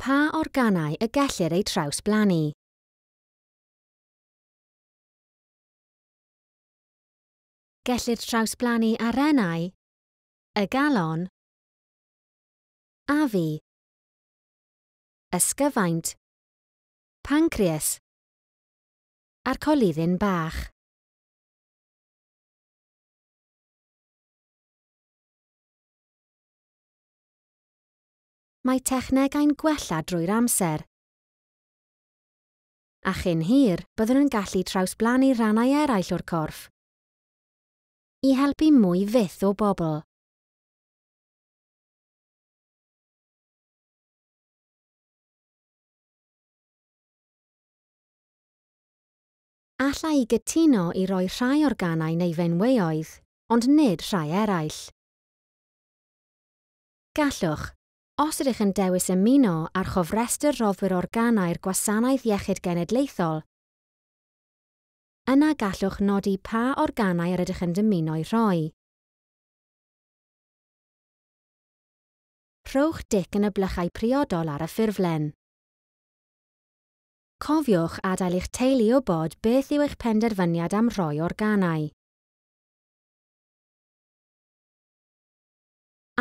Pa organau y gellir eu trawsblannu? Gellir trawsblannu arennau, y galon, afu, ysgyfaint, pancreas a'r coluddyn bach. Mae technegau'n gwella drwy'r amser. A chyn hir, byddwn yn gallu trawsblannu rhannau eraill o'r corff i helpu mwy fyth o bobl. Alla i gytuno i roi rhai organau neu feinweoedd, ond nid rhai eraill. Gallwch, os ydych yn dewis ymuno ar chofrestr rhoddwyr organau'r Gwasanaeth Iechyd Genedlaethol, yna gallwch nodi pa organau yr ydych yn dymuno'u rhoi. Rhowch dic yn y blychau priodol ar y ffurflen. Cofiwch adael i'ch teulu wybod beth yw eich penderfyniad am roi organau.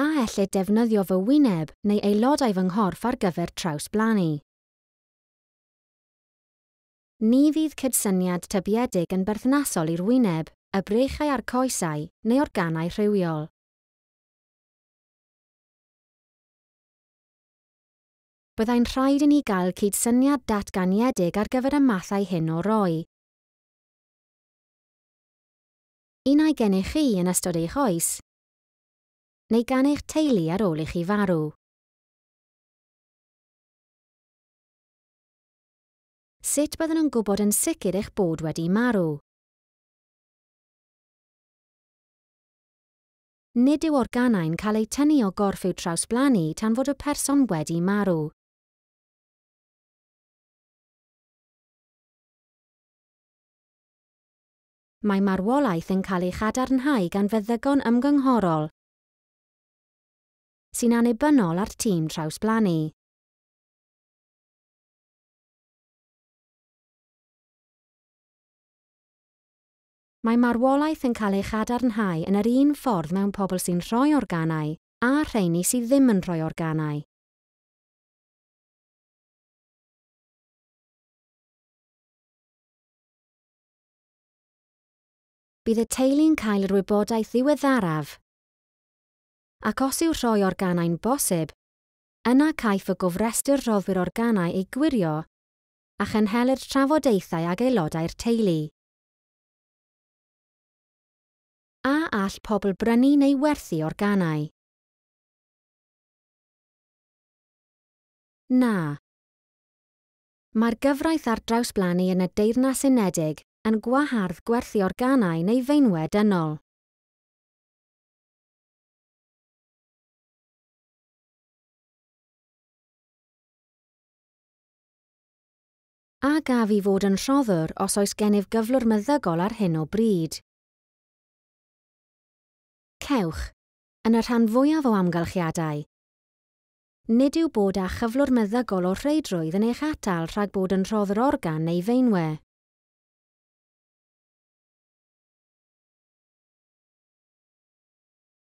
A ellid defnyddio fy wyneb neu aelodau fy nghorff ar gyfer trawsblannu? Ni fydd cydsyniad tybiedig yn berthnasol i'r wyneb, y breichiau a'r coesau neu organau rhywiol. Byddai'n rhaid i ni gael cydsyniad datganiedig ar gyfer y mathau hyn o roi. Un ai gennych chi yn ystod eich oes, neu gan eich teulu ar ôl i chi farw. Sut byddwn yn gwybod yn sicr eich bod wedi marw? Nid yw organau'n cael eu tynnu o gorff i'w trawsblannu tan fod y person wedi marw. Mae marwolaeth yn cael ei chadarnhau gan feddygon ymgynghorol sy'n annibynnol ar tîm trawsblannu. Mae marwolaeth yn cael ei chadarnhau yn yr un ffordd mewn pobl sy'n rhoi organau a rheini sydd ddim yn rhoi organau. Bydd y teulu'n cael yr wybodaeth ddiweddaraf, ac os yw rhoi organau'n bosib, yna caiff y gofrestr rhoddwyr organau ei gwirio a chynhelir trafodaethau ag aelodau'r teulu. A all pobl brynu neu werthu organau? Na. Mae'r gyfraith ar drawsblannu yn y Deyrnas Unedig yn gwahardd gwerthu organau neu feinwe dynol. A gaf i fod yn rhoddwr os oes gennyf gyflwr meddygol ar hyn o bryd? Cewch, yn y rhan fwyaf o amgylchiadau. Nid yw bod â chyflwr meddygol o rheidrwydd yn eich atal rhag bod yn rhoddwr organ neu feinwe.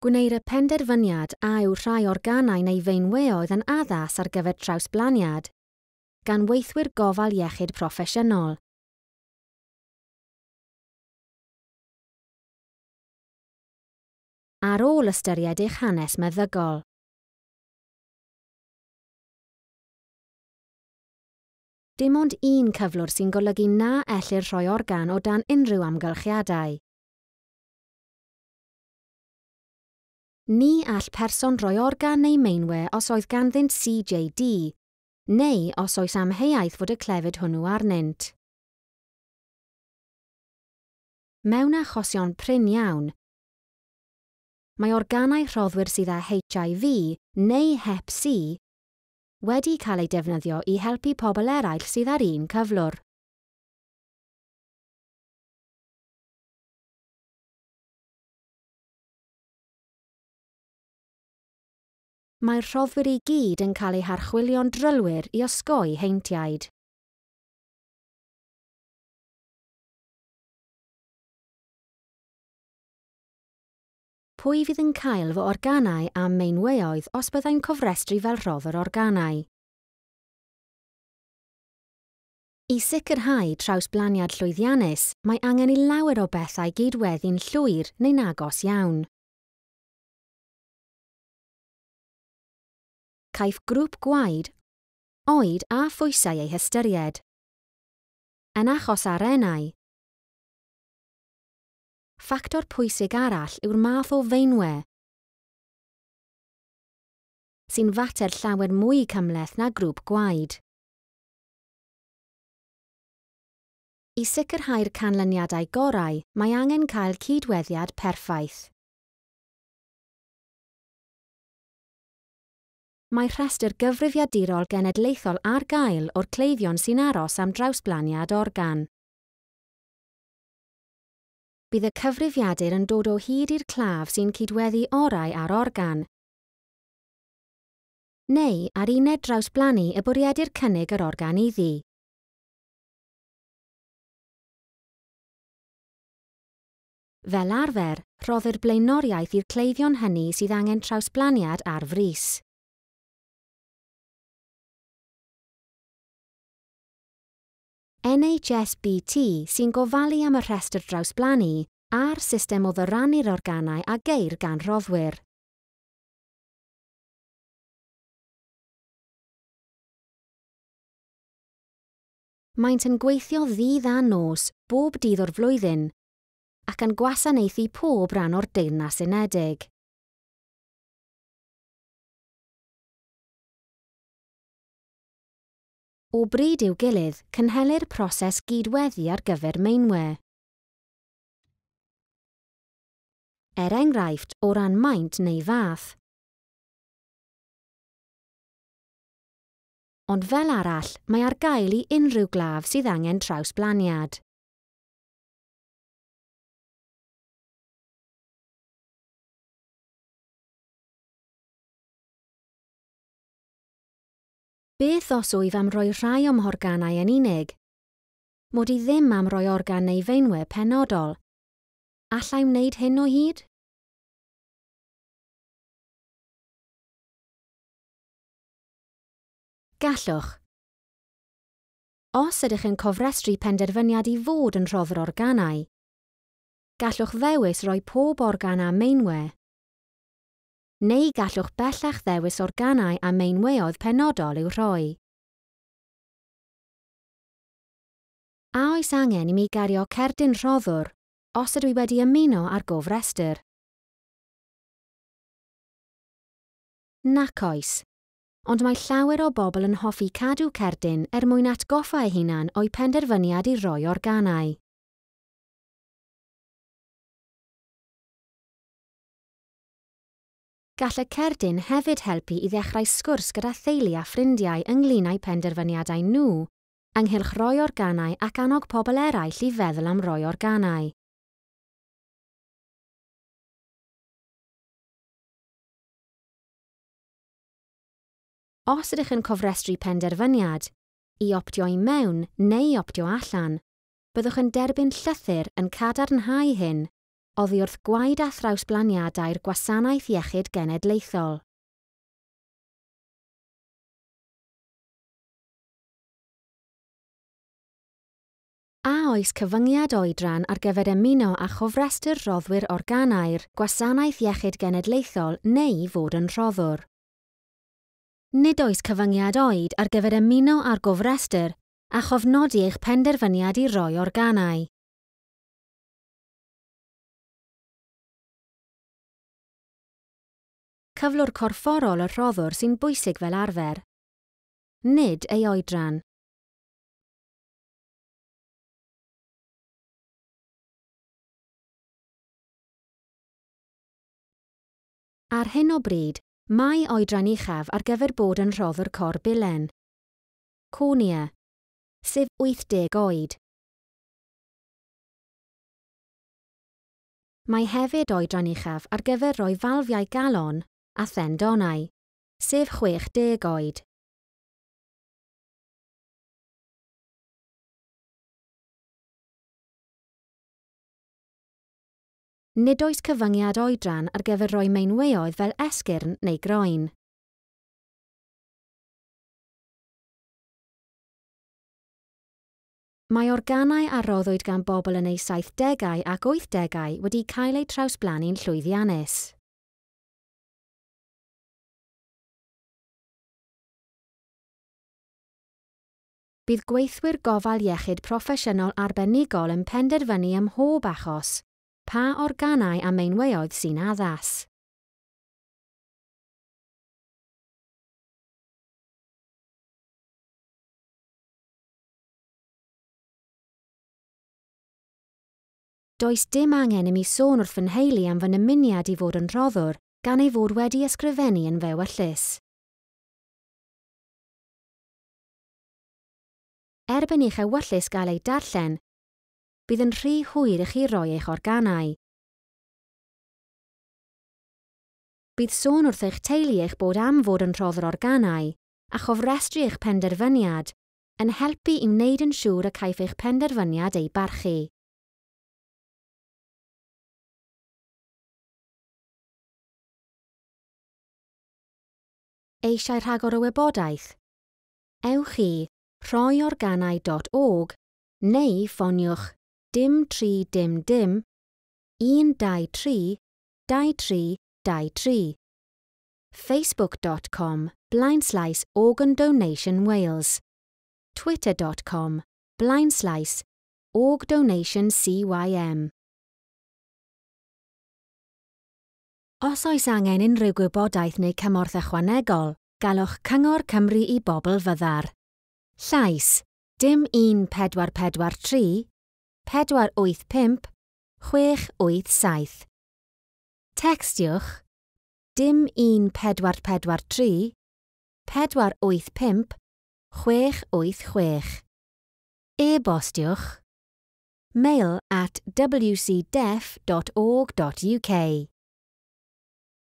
Gwneir y penderfyniad a yw rhai organau neu feinweoedd yn addas ar gyfer trawsblaniad gan weithwyr gofal iechyd proffesiynol. Ar ôl ystyried eich hanes meddygol. Dim ond un cyflwr sy'n golygu na ellir rhoi organ o dan unrhyw amgylchiadau. Ni all person roi organ neu meinwe os oedd ganddynt CJD, neu os oes amheuaeth fod y clefyd hwnnw arnynt. Mewn achosion prin iawn, mae organau rhoddwyr sydd â HIV neu Hep C wedi cael eu defnyddio i helpu pobl eraill sydd â'r un cyflwr. Mae'r rhoddwyr i gyd yn cael eu harchwilio'n drylwyr i osgoi heintiaid. Pwy fydd yn cael fy organau a'm meinweoedd os byddai'n cofrestru fel rhoddwr organau? I sicrhau trawsblaniad llwyddiannus, mae angen i lawer o bethau gydweddu'n llwyr neu'n agos iawn. Caiff grŵp gwaed, oed a phwysau eu hystyried. Yn achos arennau, ffactor pwysig arall yw'r math o feinwe, sy'n fater llawer mwy cymhleth na grŵp gwaed. I sicrhau'r canlyniadau gorau, mae angen cael cydweddiad perffaith. Mae rhestr gyfrifiadurol genedlaethol ar gael o'r cleifion sy'n aros am drawsblaniad organ. Bydd y cyfrifiadur yn dod o hyd i'r claf sy'n cydweddu orau â'r organ, neu ar uned drawsblannu y bwriedir cynnig yr organ iddi. Fel arfer, rhoddir blaenoriaeth i'r cleifion hynny sydd angen trawsblaniad ar frys. NHSBT sy'n gofalu am y rhestr drawsblannu a'r system o ddyrannu'r organau a geir gan roddwyr. Maent yn gweithio ddydd a nos bob dydd o'r flwyddyn ac yn gwasanaethu pob rhan o'r Deyrnas Unedig. O bryd i'w gilydd, cynhelir proses gydweddu ar gyfer meinwe. Er enghraifft, o ran maint neu fath. Ond fel arall, mae ar gael i unrhyw glaf sydd angen trawsblaniad. Beth os wyf am roi rhai o'm horganau yn unig? Mod i ddim am roi organ neu feinwe penodol. Alla i wneud hyn o hyd? Gallwch. Os ydych yn cofrestru penderfyniad i fod yn rhoddwr organau, gallwch ddewis roi pob organ a meinwe, neu gallwch bellach ddewis organau a meinweoedd penodol i'w rhoi. A oes angen i mi gario cerdyn rhoddwr os ydw i wedi ymuno â'r gofrestr? Nac oes, ond mae llawer o bobl yn hoffi cadw cerdyn er mwyn atgoffa eu hunan o'u penderfyniad i roi organau. Gall y cerdyn hefyd helpu i ddechrau sgwrs gyda theulu a ffrindiau ynglŷn â'u penderfyniadau nhw ynghylch rhoi organau ac annog pobl eraill i feddwl am roi organau. Os ydych yn cofrestru penderfyniad, i optio i mewn neu i optio allan, byddwch yn derbyn llythyr yn cadarnhau hyn oddi wrth gwaed a thrawsblaniadau'r Gwasanaeth Iechyd Genedlaethol. A oes cyfyngiad oedran ar gyfer ymuno â chofrestr rhoddwyr organau'r Gwasanaeth Iechyd Genedlaethol neu fod yn rhoddwr? Nid oes cyfyngiad oed ar gyfer ymuno â'r gofrestr a chofnodi eich penderfyniad i roi organau. Cyflwr corfforol y rhoddwr sy'n bwysig fel arfer, nid ei oedran. Ar hyn o bryd, mae oedran uchaf ar gyfer bod yn rhoddwr corbilen. Cornea, sef 80 oed. Mae hefyd oedran uchaf ar gyfer rhoi falfiau galon a thendonau, sef 60 oed. Nid oes cyfyngiad oedran ar gyfer rhoi meinweoedd fel esgyrn neu groen. Mae organau a roddwyd gan bobl yn eu 70au ac 80au wedi cael eu trawsblannu'n llwyddiannus. Bydd gweithwyr gofal iechyd proffesiynol arbenigol yn penderfynu ym mhob achos pa organau a meinweoedd sy'n addas. Does dim angen i mi sôn wrth fy nheulu am fy nymuniad i fod yn rhoddwr gan ei fod wedi ysgrifennu yn f'ewyllys. Erbyn i'ch ewyllys gael ei darllen, bydd yn rhy hwyr i chi roi eich organau. Bydd sôn wrth eich teulu eich bod am fod yn rhoddwr organau a chofrestru eich penderfyniad yn helpu i wneud yn siŵr y caiff eich penderfyniad ei barchu. Eisiau rhagor o wybodaeth? Ewch i rhoiorganau.org neu ffoniwch dim 3 dim dim 1 2 3 2 3 2 3. Facebook.com / Organ Donation Wales. Twitter.com / Org Donation CYM. Os oes angen unrhyw gwybodaeth neu cymorth ychwanegol, galwch Cyngor Cymru i Bobl Fyddar. Llais, dim 1 4 4 3, 4 8 5, 6 8 7. Textiwch, dim 1 4 4 3, 4 8 5, 6 8 6. E-bostiwch, mail@wcdeaf.org.uk.